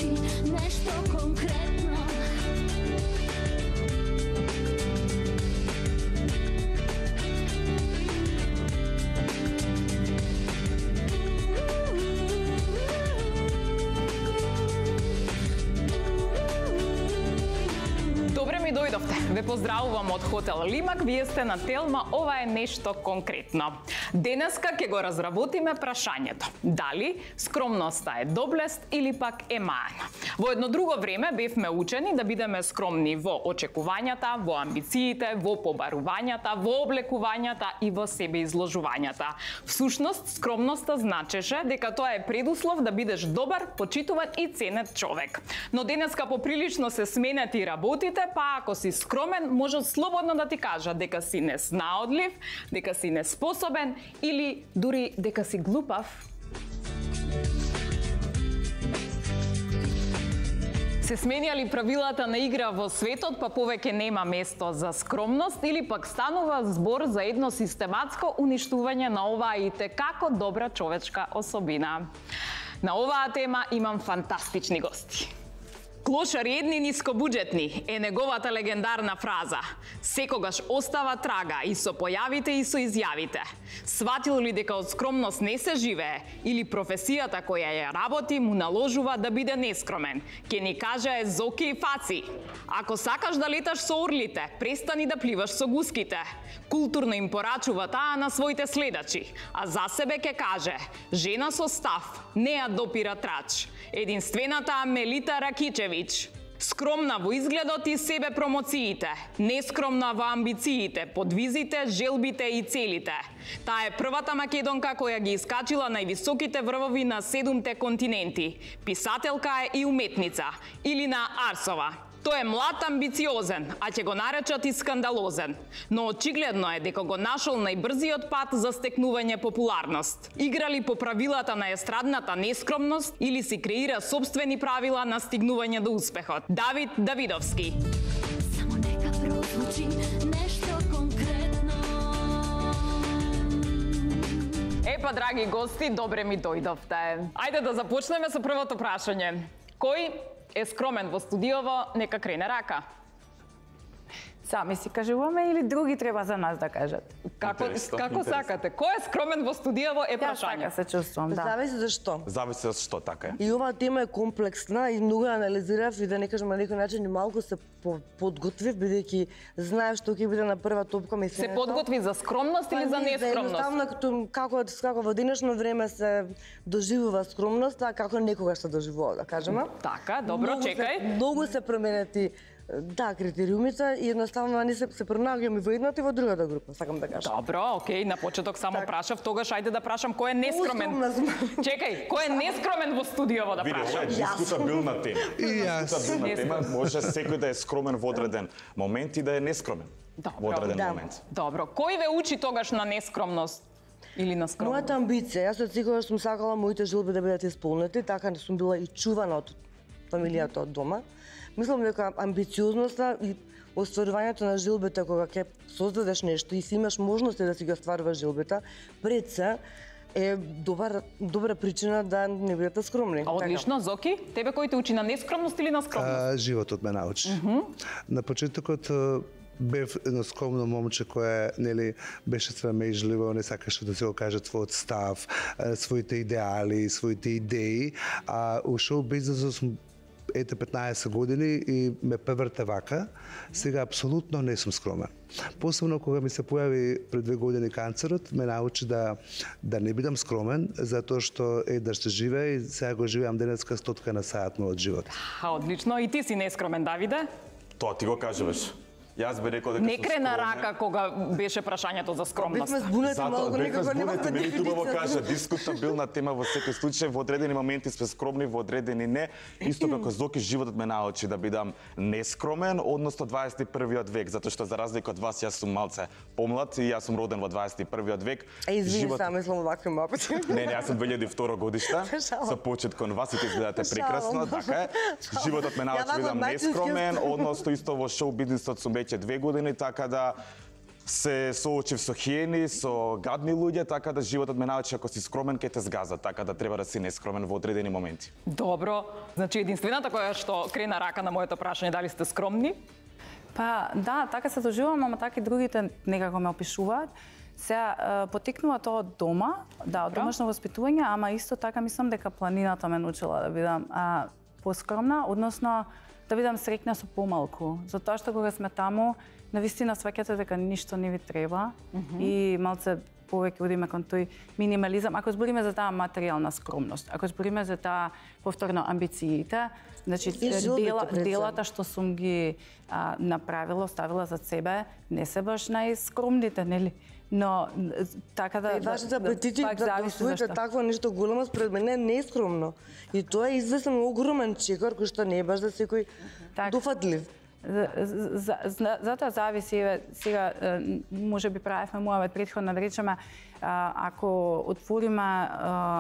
звучи нешто конкретно. Добре ми дојдовте. Ве поздравувам од Хотел Лимак. Вие сте на Телма, ова е нешто конкретно. Денеска ќе го разработиме прашањето. Дали скромноста е доблест или пак е мана? Во едно друго време бевме учени да бидеме скромни во очекувањата, во амбициите, во побарувањата, во облекувањата и во себеизложувањата. Всушност, скромноста значеше дека тоа е предуслов да бидеш добар, почитуван и ценет човек. Но денеска поприлично се сменети работите, па ако си скромен, може слободно да ти кажа дека си неснаодлив, дека си неспособен или дури дека си глупав. Се сменјали правилата на игра во светот, па повеќе нема место за скромност или пак станува збор за едно систематско уништување на оваа и како добра човечка особина. На оваа тема имам фантастични гости. Клошари едни нискобуџетни е неговата легендарна фраза. Секогаш остава трага и со појавите и со изјавите. Сватил ли дека од скромност не се живее или професијата која ја работи му наложува да биде нескромен? Ке ни каже Зоки и Фаци. Ако сакаш да леташ со орлите, престани да пливаш со гуските. Културно им порачува таа на своите следачи, а за себе ке каже: жена со став не ја допира трач. Единствената Мелита Ракичевич. Скромна во изгледот и себе промоциите, нескромна во амбициите, подвизите, желбите и целите. Таа е првата македонка која ги искачила највисоките врвови на 7 континенти. Писателка е и уметница. Илина Арсова. Тој е млад, амбициозен, а ќе го наречат и скандалозен. Но очигледно е дека го нашол најбрзиот пат за стекнување популарност. Игра ли по правилата на естрадната нескромност или си креира собствени правила на стигнување до успехот? Давид Давидовски. Само нека прозвучи нешто конкретно. Епа, драги гости, добре ми дојдовте. Ајде да започнеме со првото прашање. Кој е скромен во студиово, нека крене рака. Сами си кажуваме или други треба за нас да кажат? Како сакате? Кој е скромен во студиово е прашање. Така се чувствувам, да. Зависи за што. Зависи за што, така е. И оваа тема е комплексна и многу анализирав и да не кажам на некој начин и малку се подготвив, бидејќи знаев што ќе биде на прва топка ми се подготви за скромност или за нескромност? Едноставно како во денешно време се доживува скромност, а како некогаш се доживува, да кажеме. Така, добро, чекај. Многу се променети критериумите и едноставно не се пронаѓаме во едната и во другата група, сакам да кажам. Добро, окей, на почеток само прашав, тогаш ајде да прашам кој е нескромен. Чекај, кој е нескромен во студиово да прашам? Види, ова е дискутабилна тема. И јас. Може секој да е скромен во одреден момент и да е нескромен во одреден момент. Добро, кој ве учи тогаш на нескромност? Или на скромност? Мојата амбиција, јас од секогаш сум сакала моите желби да бидат исполнети, така сум била и чувана од фамилијата од дома. Мислам дека амбициозноста и остварувањето на желбите кога ќе создадеш нешто и си имаш можности да си ги остваруваш желбите, пред се е добра причина да не бидете скромни. Одлично, Зоки, тебе кој те учи на нескромност или на скромност? Животот ме научи. На почетокот бев едно скромно момче кое беше срамежливо, не сакаше да се го каже својот став, своите идеали, своите идеи, а у шоу бизнесот сум 15 години и ме преврте вака. Сега апсолутно не сум скромен. Посебно кога ми се појави пред 2 години канцерот, ме научи да не бидам скромен, затоа што да ще живее и сега го живеам денеска 100 на саат мојот живот. Одлично. И ти си нескромен, Давиде? Тоа ти го кажеш. Јас би рекол дека не крена рака кога беше прашањето за скромност. Бевме збунети малку, некако нема да мени убаво кажа, дискутабилна тема во секој случај, во одредени моменти сме скромни, во одредени не. Исто како Зоки, животот ме научи да бидам нескромен, односно 21-виот век, затоа што за разлика од вас јас сум малце помлад и јас сум роден во 21-виот век. Извини, само мислам вакви мапати. Не, јас сум 2002 годишта. Со почет кон вас и ти изгледате прекрасно, така е. Животот ме научи да бидам нескромен, односно исто во шоу бизнисот сум веќе 2 години, така да се соочив со хиени, со гадни луѓе, така да животот ме научи ако си скромен ќе те згаза, така да треба да си нескромен во одредени моменти. Добро. Значи единствената која што крена рака на моето прашање дали сте скромни? Па да, така се доживувам, ама така и другите некако ме опишуваат. Сега потекнува тоа од дома, да, од домашно воспитување, ама исто така мислам дека планината ме научила да бидам поскромна, односно да бидам среќна со помалку. Затоа што кога сме таму, навистина сваќате дека ништо не ви треба и малце повеќе одиме кон тој минимализам. Ако збориме за таа материјална скромност, ако збориме за таа повторно амбициите, значи делата што сум ги направила, оставила за себе, не се баш најскромните, нели? Но така да вашите апетити да освоите такво нешто големо според мене не е скромно. И тоа е известен огромен чекор кој што не е баш за секој дофатлив. Затоа зависи, сега може би правевме муавет претходно да речеме, ако отвориме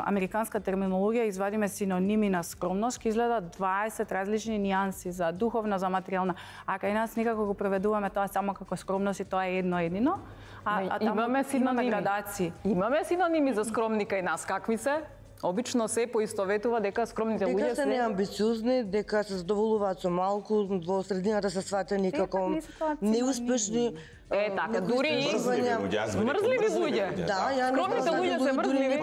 американска терминологија, извадиме синоними на скромност, ќе изгледа 20 различни нијанси за духовна, за материјална. А кај нас некако го преведуваме тоа само како скромност и тоа е едно едино. А имаме синоними. Градации. Имаме синоними за скромни кај нас, какви се? Обично се поистоветува дека скромните луѓе дека се неамбициозни, дека се задоволуваат со малку, во средината се сватени како неуспешни. Така, дури и мрзливи луѓе. Да, ја скромните луѓе се мрзливи.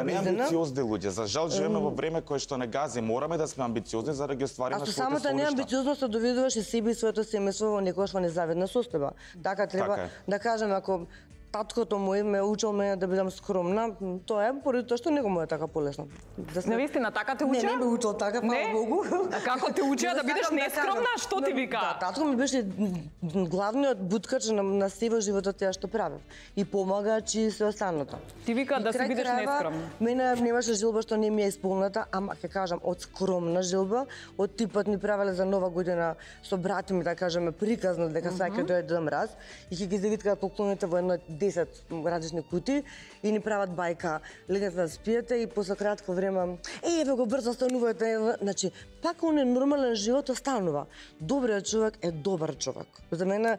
Неамбициозни луѓе. За жал живееме во време кое што не гази. Мораме да сме амбициозни за да ги оствариме своите соништа. А со самата неамбициозност доведуваш и себе и своето семејство во некојаш во незавидна состојба. Така треба да кажеме, ако таткото мој ме учил мене да бидам скромна, тоа е поради тоа што него му е така полесно. Навистина така те учеа? Не ме учил така, фала Богу. А како те учеа да бидеш нескромна? Што ти вика? Да, татко ми беше главниот буткач на се во животот тоа што правев. И помагач и се останато. Ти вика да си бидеш нескромна. Мене немаше жилба што не ми е исполната, ама ќе кажам од скромна жилба, од типот ни правеле за Нова година со брат ми, да кажеме, приказно дека сака дојде Дед Мраз и ќе ги завиткаат поклоните во едно 10 различни кути и ни прават бајка, легнете да спиете и после кратко време еве го брзо станувате, значи пак он е нормален живот останува. Добриот човек е добар човек. За мене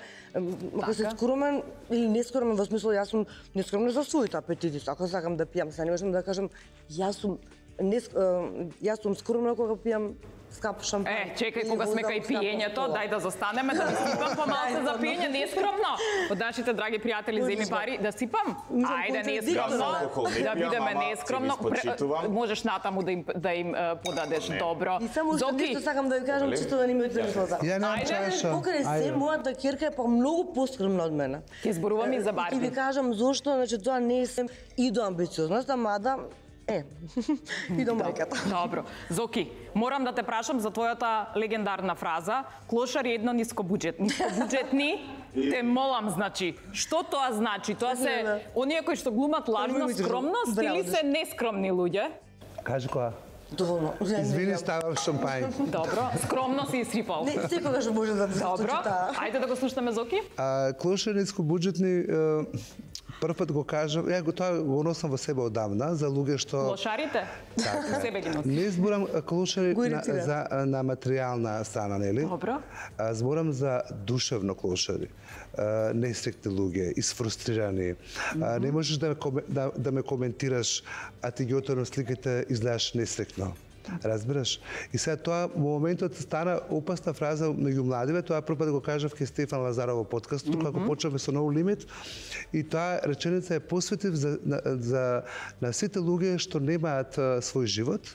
ако си скромен или нескромен во смисло јас сум нескромен за своите апетити, ако сакам да пијам, се не можам да кажам јас сум скромна кога пијам скап шампан. Чекај, кога сме кај пиењето, дај да застанеме, да ви сипам помалку за пиење, не е скромно. Од нашите драги пријатели земи пари, да сипам? Ајде, не е скромно, да бидеме нескромно. Можеш натаму да им подадеш добро. И само што нешто сакам да ви кажам, чисто да не ме отрени слоза. Ајде, покрај се, мојата ќерка е па многу поскромна од мене. Ќе зборувам и за Барби. И ви кажам зошто, значи тоа не е сем и до амбициозност, мада и до мајката. Добро. Зоки, морам да те прашам за твојата легендарна фраза. Клошари едно нискобуџетни. Нискобуџетни, те молам, значи. Што тоа значи? Тоа се оние кои што глумат лажна скромност или се нескромни луѓе? Кажи која? Доволно. Извини, ставам шампањ. Добро, скромно си изсипал. Не, секогаш може да се случи таа. Ајде да го слушнеме Зоки. Клошари нискобуџетни, прв пат го кажам, тоа го носам во себе одамна, за луѓе што... Клошарите? Така. Себе ги носим. Не зборам клошари на материјална страна, нели? Добро. Зборам за душевно клошари. Несреќни луѓе, изфрустрирани. Не можеш да ме коментираш, а ти ги отворам сликите изгледаш несреќно. Разбираш? И сега тоа во моментот стана опасна фраза меѓу младиве, тоа прв пат го кажав ке Стефан Лазаров во подкастот, кога почнавме со No Limit, и таа реченица е посветив на сите луѓе што немаат свој живот,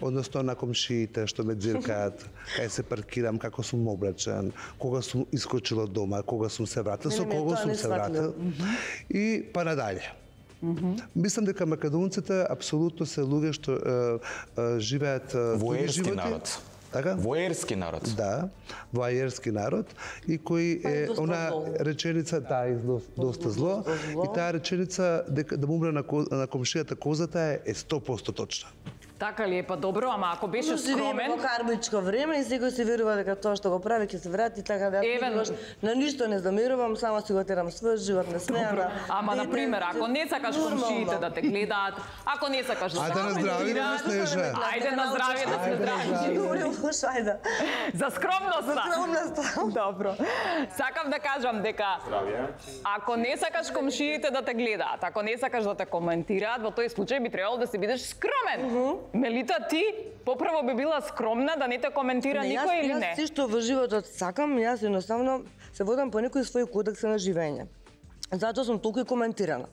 односно на комшиите што ме дзиркаат, кај се паркирам, како сум облечен, кога сум искочил од дома, кога сум се вратил, со кого сум се вратил и па надале. Мислам дека македонците апсолутно се луѓе што живеат воерски народ. Така? Воерски народ. Да, воерски народ и кој е она реченица доста зло и таа реченица дека да му умре на комшијата козата е 100% точна. Така ли е, па добро, ама ако беше скромен... Во карбичко време и секој се верува дека тоа што го прави ќе се врати, така да јас на ништо не замерувам, само си го терам својот живот, не смеам. Ама на пример, ако не сакаш комшиите да те гледаат, ако не сакаш да Ајде на здравје да Снежа. Ајде на здравје да се здрави. За скромноста. Добро. Сакам да кажам дека ако не сакаш комшиите да те гледаат, ако не сакаш да те коментираат, во тој случај би требало да се бидеш скромен. Мелита, ти попрво би била скромна да не те коментира никој или не? Јас што во животот сакам, јас едноставно се водам по некои своји кодекси на живење. Затоа сум толку и коментирана.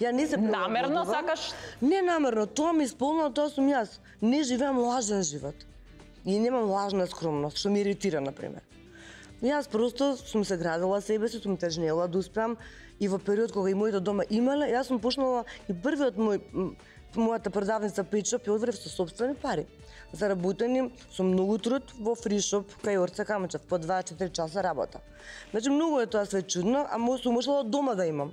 Ја не се прилагодувам. Намерно сакаш? Не намерно, тоа ми исполнува, тоа сум јас. Не живеам лажен живот. И немам лажна скромност, што ми иритира, например. Јас просто сум се градила себе си, сум тежнела да успеам и во период кога и моите дома имале, јас сум почнала и првиот мојата продавница Печоп ја отворив со сопствени пари. Заработени со многу труд во фришоп кај Орца Камчев, по 2-4 часа работа. Значи многу е тоа све чудно, а сум можела дома да имам.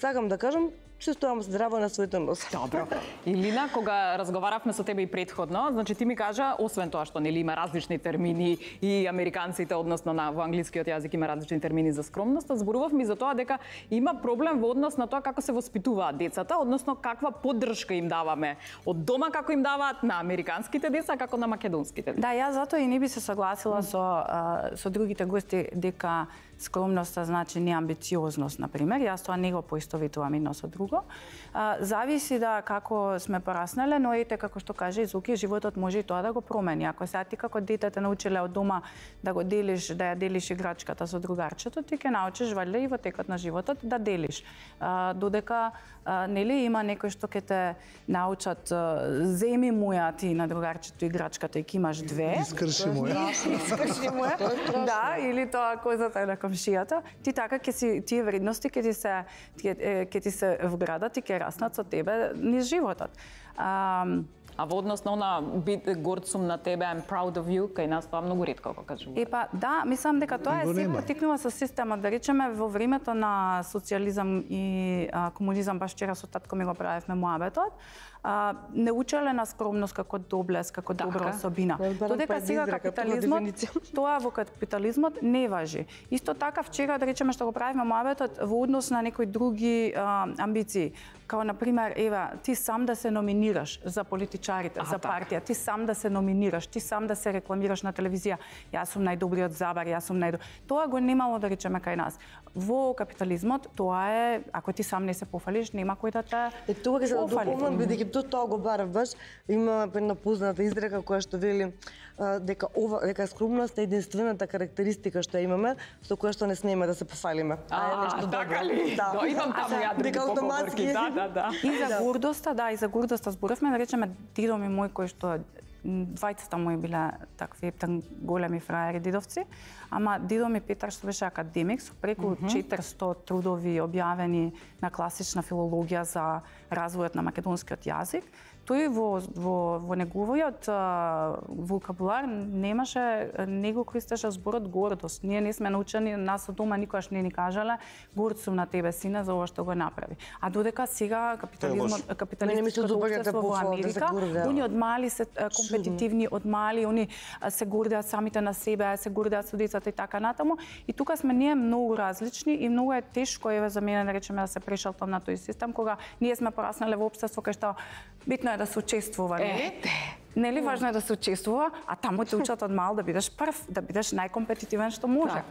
Сакам да кажам, се стојам здраво на своите носи. Добро. Илина, кога разговаравме со тебе и претходно, значи ти ми кажа, освен тоа што нели има различни термини и американците, односно во англискиот јазик има различни термини за скромност, зборувавме за тоа дека има проблем во однос на тоа како се воспитуваат децата, односно каква поддршка им даваме од дома како им даваат на американските деца, како на македонските деца. Да, јас затоа и не би се согласила со другите гости дека скромноста значи неамбициозност, например. Јас тоа не го поистоветувам едно со друго. Зависи да како сме пораснале, но ете како што каже Зуки, животот може и тоа да го промени. Ако сега ти како дете те научиле од дома да го делиш, да ја делиш играчката со другарчето, ти ќе научиш валјда и во текот на животот да делиш. Додека нели има некој што ќе те научат земи моја ти на другарчето играчката и ќе имаш две. Искрши моја. Искрши моја. Да, или тоа козата на комшијата, ти така ќе си тие вредности ќе ти се вградат и ќе раснат со тебе низ животот. А во однос на она горд сум на тебе, I'm proud of you, кај нас тоа многу ретко го кажуваме. Епа, да, мислам дека тоа е се потикнува со системот, да речеме во времето на социјализам и комунизам, баш вчера со татко ми го правевме муабетот, не учеле на скромност како доблест, како добра особина. Додека сега капитализмот, тоа во капитализмот не важи. Исто така вчера да речеме што го правиме муабетот во однос на некои други амбиции, као на пример, ева, ти сам да се номинираш за политичарите, за партија, ти сам да се номинираш, ти сам да се рекламираш на телевизија. Јас сум најдобриот Забар, јас сум Тоа го немало да речеме кај нас. Во капитализмот тоа е, ако ти сам не се пофалиш, нема кој да те Тоа ќе се дополнам, бидејќи тоа го барав баш, има една позната изрека која што вели дека скромност е единствената карактеристика што имаме, со која што не смееме да се пофалиме. Така ли? Да, имам таму ја други поговорки. Да. И за гордоста, и за гордоста зборавме, да речеме дидо ми мој кој што двајцата мои биле такви големи фраери дидовци, ама дидо ми Петар што беше академик со преку 400 трудови објавени на класична филологија за развојот на македонскиот јазик, тој во неговиот вокабулар не го користеше зборот гордост. Ние не сме научени, нас од дома никогаш не ни кажале горд сум на тебе сине за ова што го направи. А додека сега капиталистичкото општество во Америка, они од мали се компетитивни, од мали они се гордеат самите на себе, се гордеат со децата и така натаму. И тука сме ние многу различни и многу е тешко за мене да речеме да се прешалтам на тој систем кога ние сме пораснале во општество кај што битно е да се учествува, нели? Нели важно е да се учествува, а таму те учат од мал да бидеш прв, да бидеш најкомпетитивен што може.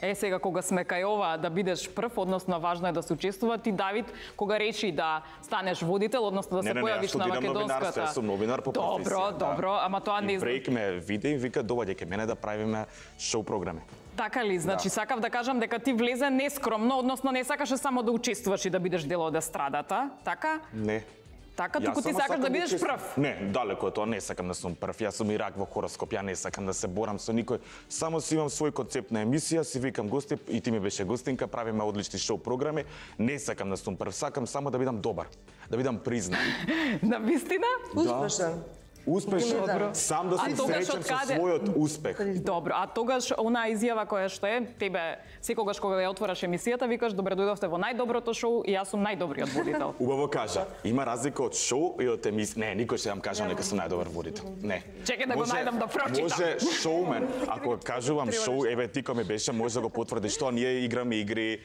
Сега кога сме кај ова да бидеш прв, односно важно е да се учествува, ти Давид кога речи да станеш водител, односно да се појавиш на македонската. Јас сум новинар по професија. Добро, ама тоа не Брејк ме виде и вика доваѓај кај мене да правиме шоу програми. Така ли? Значи сакав да кажам дека ти влезе нескромно, односно не сакаше само да учествуваш и да бидеш дел од естрадата, така? Не. Така, туку ти сакаш да бидеш прв? Не, далеко тоа, не сакам да сум прв. Јас сум и рак во хороскоп, ја не сакам да се борам со никој. Само си имам свој концепт на емисија, си викам гости, и ти ми беше гостинка, правиме одлични шоу програми. Не сакам да сум прв, сакам само да бидам добар, да бидам признат. На вистина? Успешен. Успешен, Добро. сам да А сум тогаш среќен со откаде? својот успех. Добро, а тогаш онаа изјава која што е, тебе секогаш кога ја отвораш емисијата, викаш добре дојдовте во најдоброто шоу и јас сум најдобриот водител. Убаво кажа, има разлика од шоу и од емисија. Не, никој ќе ја кажам дека сум најдобар водител. Не. Чекај да го најдам да прочитам. Може шоумен, ако кажувам шоу, еве ти кој ми беше, може да го потврдиш што ние играме игри.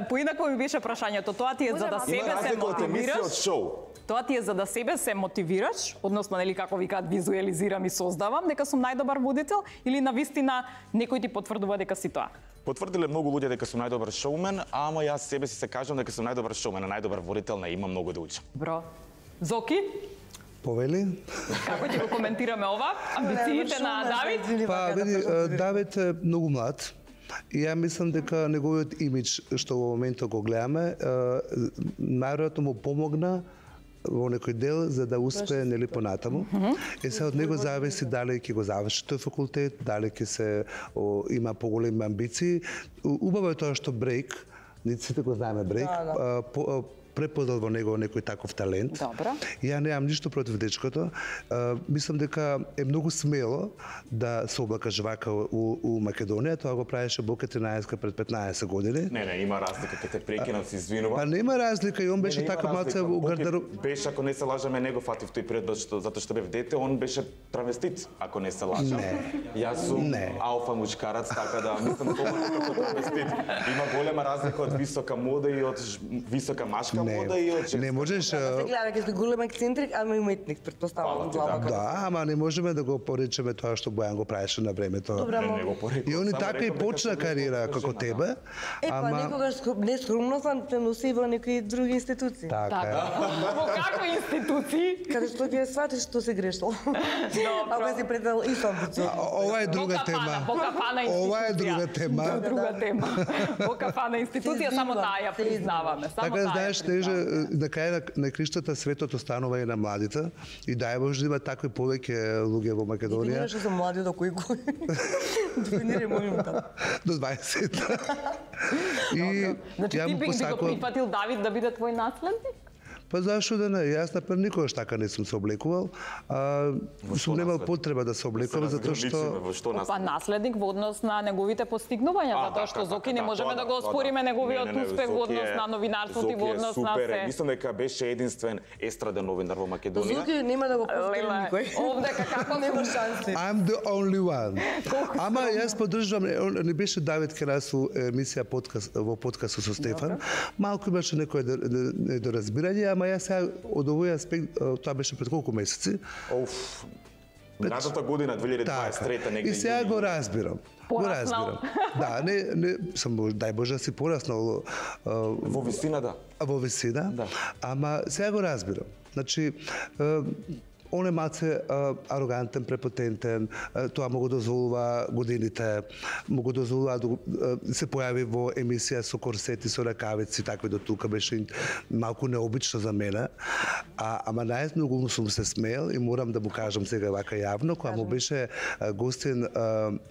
Поинако ми беше прашањето, тоа ти е за да Има себе се разлика од емисија од мотивираш. шоу. Тоа ти е за да себе се мотивираш, односно нели како викаат визуелизирам и создавам дека сум најдобар водител или навистина некој ти потврдува дека си тоа? Потврдиле многу луѓе дека сум најдобар шоумен, ама јас себе си се кажам дека сум најдобар шоумен, а најдобар водител не има многу да учам. Бро. Зоки, Повели? како ќе го коментираме ова? Амбициите на Давид? Па, види, Давид е многу млад. И ја мислам дека неговиот имидж што во моментот го гледаме, најверојатно му помогна во некој дел за да успее нели понатаму. Е се од него зависи дали ќе го заврши тој факултет, дали ќе се има поголеми амбиции. Убаво е тоа што Брейк, сите го знаеме Брейк, преподал во него некој таков талент. Добро. Ја немам ништо против дечкото. Мислам дека е многу смело да се облакаш вака у Македонија. Тоа го правеше Бока 13 пред 15 години. Не, има разлика, ќе те прекинам, се извинувам. Па нема разлика и он беше Не, така има малце разлика. у гардероб. Беше, ако не се лажаме, него фатив тој период затоа што бев дете, он беше травестит, ако не се лажам. Јас сум алфа мушкарац, така да мислам тоа како травестит. Има голема разлика од висока мода и од висока машка мода и од женска. Не можеш. Се гледа дека си голем ексцентрик, ама и уметник, Фала претпоставувам ти, глава. Да, ама не можеме да го поречеме тоа што Бојан го правеше на времето. Добра, Не го порекол. И он и само така и рекол дека почна сум кариера успешна, како да. тебе, Па ама некогаш нескромноста те носи во некои други институции. така е. Во какви институции? Каде што ќе сватиш што се грешил. Ако си предал и амбициозно. Ова е друга тема. Во кафана институција. Ова е друга тема. Друга тема. Во кафана институција само таа ја признаваме. Само Така таа ја знаеш, теже признаваме. на крај на криштата светот останува и на младите и дај Боже да има такви повеќе луѓе во Македонија Дефинираш што се млади до кој. Дефинирај молим те. до 20. И Значи ја ти му би го посакувам. прифатил Давид да биде твој наследник? Па зашо да не? Јас например никогаш така не сум се облекувал. Сум немал потреба да се облекувам затоа што Во што нас? Па наследник во однос на неговите постигнувања, затоа што Зоки не можеме да го оспориме неговиот успех во однос на новинарството и во однос на се. Мислам дека беше единствен естраден новинар во Македонија. Зоки нема да го повтори Леле, никој. овдека како Нема шанси. I'm the only one. Ама јас поддржувам, не беше Давид Керасу емисија подкаст во подкастот со Стефан. Малку имаше некој недоразбирање, ама јас сега од овој аспект тоа беше пред колку месеци. Оф. Минатата година 2023 негде. И сега го разбирам. Го Пораснал. разбирам. Да, не сам дај Боже да си пораснал Во висина да. во висина, Да. ама сега го разбирам. Значи, он е малце арогантен, препотентен, тоа му го дозволува годините, му го дозволува да се појави во емисија со корсети, со ракавици, такви до тука беше малку необично за мене. Ама најмногу му сум се смеел и морам да му кажам сега вака јавно, кога му беше гостин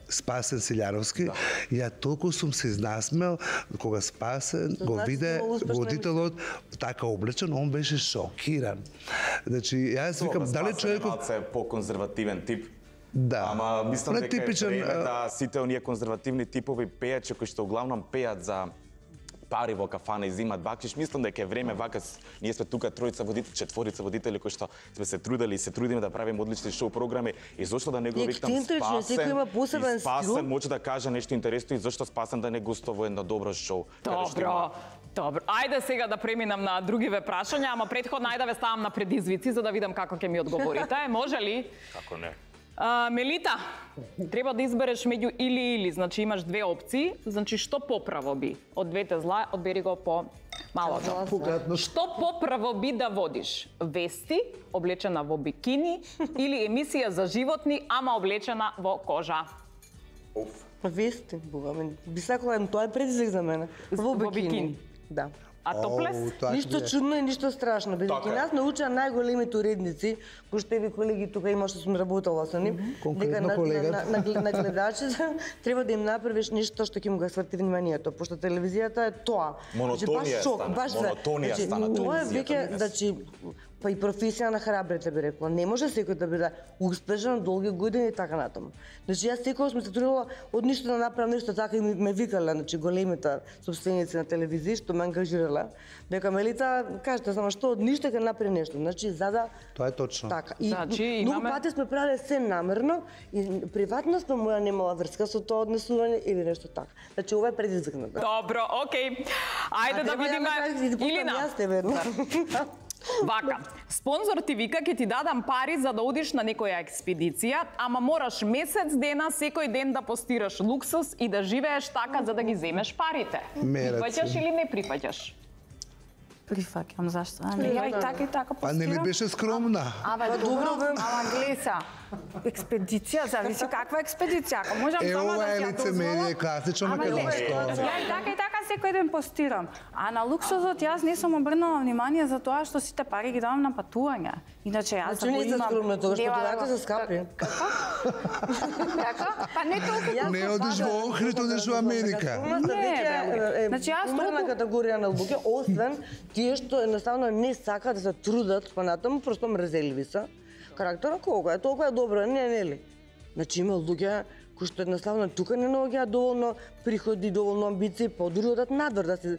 Спасен Силјановски, ја толку сум се изнасмел кога Спасен го значи виде многу успешна водителот така облечен, он беше шокиран. Значи, јас викам, дали човеков... Малце по-конзервативен тип. Да. Ама мислам Не дека типичен, е време да сите оние конзервативни типови пејачи кои што главном пеат за пари во кафана и зимат бакшиш, мислам дека е време вака ние сме тука тројца водители, четворица водители кои што сме се трудели и се трудиме да правиме одлични шоу програми и зошто да не го викнам Ексцентрично, секој има посебен и Спасен стил. може да каже нешто интересно и зошто Спасен да не гостува во едно добро шоу. каде што има- Добро. Ајде сега да преминам на другиве прашања, ама претходно ајде да ве ставам на предизвици за да видам како ќе ми одговорите. Може ли? Како не? Мелита, треба да избереш меѓу или, значи имаш две опции, значи што поправо би? Од двете зла, одбери го по малото. Што поправо би да водиш? Вести, облечена во бикини, или емисија за животни, ама облечена во кожа? Оф. Вести, бога, би сакала, тоа е предизвик за мене. Во Во бикини. бикини. Да. А топлес? тоа ќе Ништо биде. чудно и ништо страшно, бидејќи Така е. нас научаа најголемите уредници, кои што ви колеги тука има што сум работела со нив, Конкретно колегата. на гледачите треба да им направиш нешто што ќе му го сврти вниманието, пошто телевизијата е тоа. Монотонија Значи, баш шок, стана, баш монотонија значи, стана тоа е телевизијата веќе, денес. значи па и професија на храбрите би рекла. Не може секој да биде успешен долги години и така натаму. Значи јас секогаш ми се трудела од ништо да направам нешто, така и ме викале, значи големите собственици на телевизија што ме ангажирале. Дека Мелита, кажете само што од ништо ќе направи нешто. Значи за да Тоа е точно. така. И Значи, многу имаме- пати сме правеле се намерно и приватноста моја немала врска со тоа однесување или нешто така. Значи ова е предизвикнато. Добро, окей. Ајде да видиме Илина. Вака, спонзор ти вика ќе ти дадам пари за да одиш на некоја експедиција, ама мораш месец дена секој ден да постираш луксус и да живееш така за да ги земеш парите. Мераци. Прифаќаш или не прифаќаш? Прифаќам, зашто? Ја и така Па нели постирам. беше скромна? Абе, добро, ама глеса. Експедиција, зависи каква експедиција. Ако можам само Ова да е си ја лицемерие, дозволам. класично Ама не, македонско. Ја и така секој ден постирам. А на луксузот јас не сум обрнала внимание за тоа што сите пари ги давам на патување. Иначе јас Значи не сте скромна тогаш, патувањата се скапи. Така? Па не толку. Не одиш во Охрид, одиш во Америка. Не, значи јас умерна толку- категорија на луѓе, освен тие што едноставно не сакаат да се трудат понатаму, просто мрзеливи се. Карактерот колку е, толку е добро, не нели? Значи има луѓе кои што едноставно тука не наоѓаат доволно приходи, доволно амбиции, па дури одат надвор да се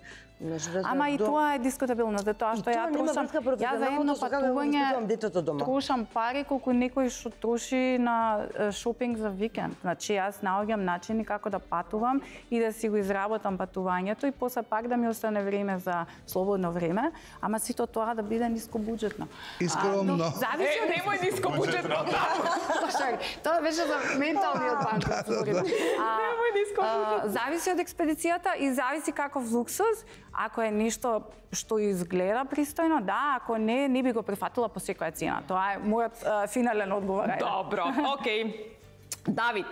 Ама и тоа е дискутабилно, затоа што ја нема трошам, врска ја за едно професионалното со како го воспитувам детето патување дома. трошам пари колку некој што троши на шопинг за викенд. Значи јас наоѓам начини како да патувам и да си го изработам патувањето и после пак да ми остане време за слободно време, ама сито тоа да биде нискобуџетно. И скромно. Зависи од Немој ниско буџетно. Тоа беше за менталниот банкот. Немој ниско Зависи од експедицијата и зависи каков луксуз. Ако е нешто што изгледа пристојно, да, ако не, не би го прифатила по секоја цена. Тоа е мојот финален одговор. Добро, окей. Давид,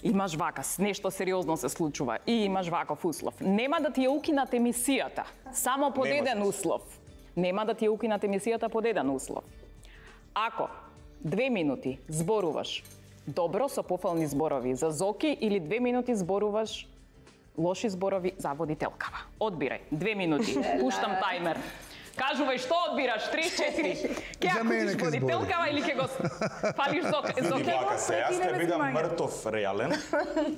имаш вакас, нешто сериозно се случува и имаш ваков услов. Нема да ти ја укинат емисијата, само под Не еден можеш. услов. Нема да ти ја укинат емисијата под еден услов. Ако 2 минути зборуваш добро со пофални зборови за Зоки или 2 минути зборуваш лоши зборови за водителкава. Одбирај, 2 минути, пуштам тајмер. Кажувај што одбираш, 3-4. Ке За мене акутиш ке збори. водителкава или ке го фалиш Види Зоки? вака се, јас ќе бидам мртов реален.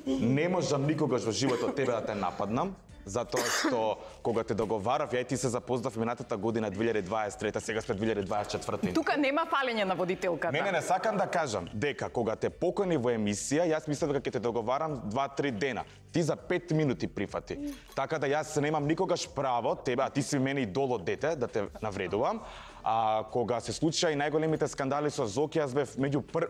Не можам никогаш во животот тебе да те нападнам, затоа што кога те договарав, ја и ти се запознав минатата година 2023, сега сме 2024. Тука нема фалење на водителката. Не сакам да кажам дека кога те покани во емисија, јас мислев дека ќе те договарам 2-3 дена. Ти за 5 минути прифати. Така да јас немам никогаш право тебе, а ти си мене идол од дете, да те навредувам. А кога се случија и најголемите скандали со Зоки, јас бев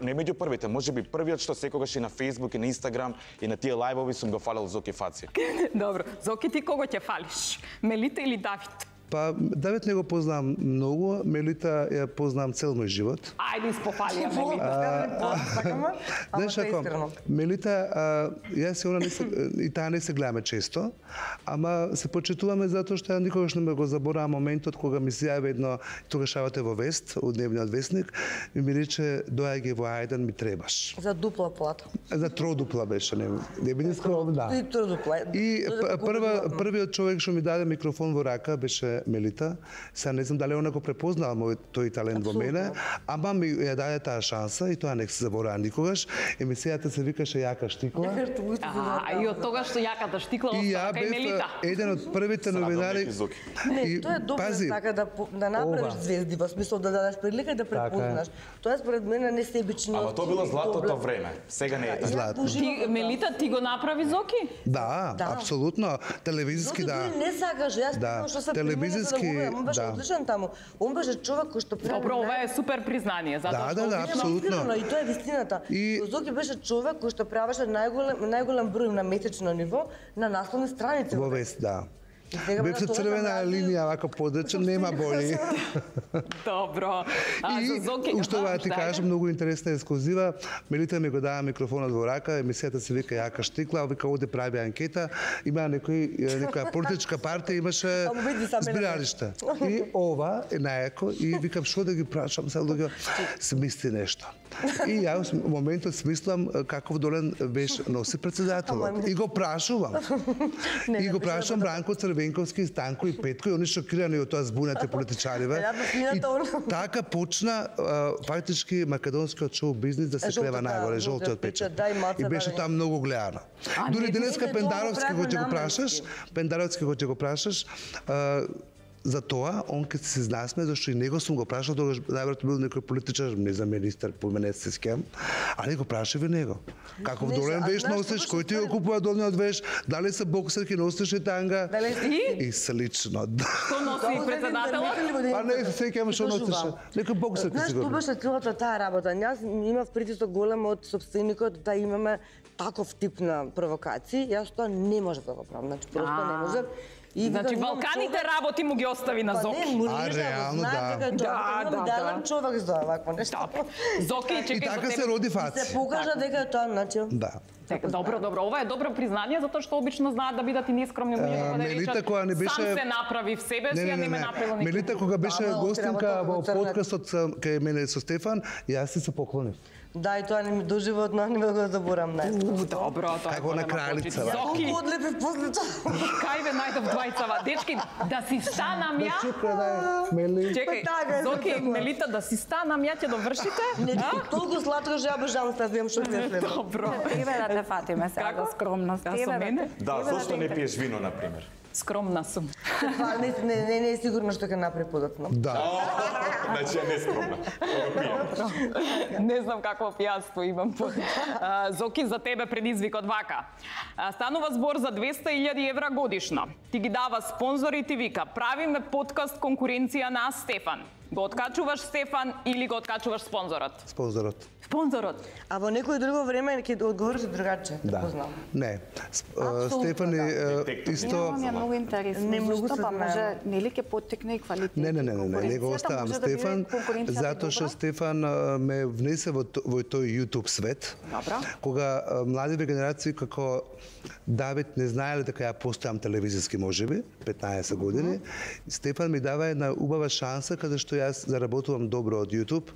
не меѓу првите, можеби првиот што секогаш и на Facebook и на Instagram и на тие лајвови сум го фалел Зоки Фаци. Добро, Зоки ти кого ќе фалиш? Мелита или Давид? Па, Давид не го познам многу, Мелита ја познам цел мој живот. Ајде испофали ја Мелита. Знаеш како, Мелита, јас и она и таа не се гледаме често, ама се почитуваме затоа што ја никогаш не ме го заборавам моментот кога ми се јави едно, тогаш работе во Вест, од дневниот вестник, и ми рече, доаѓај во Ајдан, ми требаш. За дупла плата. За тродупла беше, не биде скромна. И тродупла. И првиот човек што ми даде микрофон во рака беше Мелита. Сега не знам дали она го препознала тој талент во мене, ама ми ја даде таа шанса и тоа не се заборава никогаш. Емисијата се викаше Јака штикла. И од тога што јаката штикла И ја остава кај бев Мелита. еден од првите новинари. Зоки. Не, тоа е добро така да направиш ова. звезди, во смисла да дадеш прилика и да препознаш. Тоа според мене не себичниот. Ама тоа било златото време. Сега не е така. Златно. Ти, Мелита, ти го направи Зоки? Да, апсолутно. Телевизиски да. Не сакаш, јас Да, да. Што се телевизиски, он беше да. одличен таму. Он беше човек кој што прави. Добро, ова е супер признание, затоа Да, што апсолутно. И тоа е вистината. И- Зоки беше човек кој што правеше најголем број на месечно ниво на насловни страници. Во Вест, да. И сега Бев со тоа црвена направи- линија, вака подречен, нема боли. Добро. А И, за Зоки... уште ова ти Ајде. кажам, многу интересна ексклузива. Мелита ми го дава микрофонот во рака, емисијата се вика Јака штикла, вика оде прави анкета, има некоја политичка партија, имаше Ама види сам мене. збиралиште. И ова е најако и викам што да ги прашам, сега луѓе се мисли нешто. И јас во моментот смислам каков долен беше носи председателот. И го прашувам. И го прашувам Бранко Црвенковски, Станко и Петко и они шокирани од тоа збунати политичариве. И така почна фактички македонскиот шоу бизнис да се клева најгоре, жолтиот печат. И беше тоа многу гледано. Дури денеска Пендаровски кој ќе го прашаш, за тоа, он ке се знасме, зашто и него сум го прашал, тогаш најверојатно бил некој политичар, не за министар, по мене се скем, али го прашав и него. Каков долен веш носиш, кој ти го купува долниот веш, дали се боксерки носиш и танга? И слично. Што носи председателот? А не се сеќавам што носеше. Некој боксерки сигурно. Знаеш, што беше целата таа работа? Јас имав притисок голем од сопственикот да имаме таков тип на провокации. Јас тоа не можев да го правам, значи просто не можев. Значи Балканите работи му ги остави на Зоки. Реално да. Да, човек за овакво нешто. Зоки, И чекај така за се тебе. роди Фаци. Се покажа дека е тоа начин. Да. Добро, ова е добро признание, затоа што обично знаат да бидат и нескромни луѓе, да Мелита речат, која не беше- сам се направи в себе си, а не ме направил никој. Мелита кога беше Да, гостинка треба во да го подкастот кај мене со Стефан, јас си се поклонив. Да, и тоа не ми доживотно не го заборам најскоро. Добро, тоа е Како на голема кралица, почит. бе. Зоки, Колку одлепив после тоа. кај ве најдов двајцава? Дечки, да си станам ја? Чекај, така е, Зоки, затоа. Мелита, да си станам ја, ќе довршите? Не, толку сладко што ја обожавам да видам што ќе следва. Добро. Тебе да те фатиме сега Како? за скромност. Да, со Тебе мене? те- Да, тебе зошто не те- пиеш вино, например? Скромна сум. Това не е сигурно што ќе направи подоцна. Да. Значи ја не скромна. Не знам какво пијанство имам. Зоки, за тебе предизвикот вака. Станува збор за 200.000 евра годишно. Ти ги дава спонзор и ти вика, правиме подкаст конкуренција на Стефан. Го откачуваш Стефан или го откачуваш спонзорот? Спонзорот. Спонзорот. А во некој друго време ќе одговориш другаче, Да. го знам. Не. Апсолутно Стефан е исто Немам ја многу интересно. Не многу Зашто се па знае. може нели ќе поттекне и квалитет. Не, не го оставам Стефан, затоа што Стефан ме внесе во тој YouTube свет. Добро. Кога младиве генерации како Давид не знаеле дека ја постојам телевизиски можеби, 15 години, Стефан ми дава една убава шанса каде што јас заработувам добро од YouTube.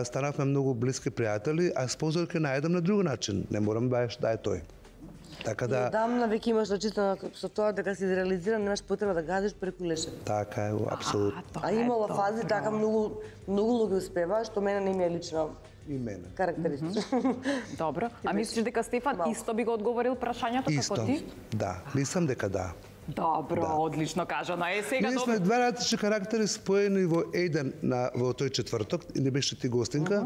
Станавме многу блиски пријатели, а спонзор ќе најдам на друг начин. Не морам баш да е тој. Така да, Дамна веќе имаш очистено со тоа дека си реализиран, немаш потреба да газиш преку лешев. така е, апсолутно. А имало фази така многу луѓе успеваа што мене не ми е лично И мене. карактеристично. Добро. А мислиш дека Стефан исто би го одговорил прашањето како Исто. ти? Да, мислам дека да. Добро, одлично кажано. Сега Ние сме добро. два различни карактери споени во еден во тој четврток, не беше ти гостинка.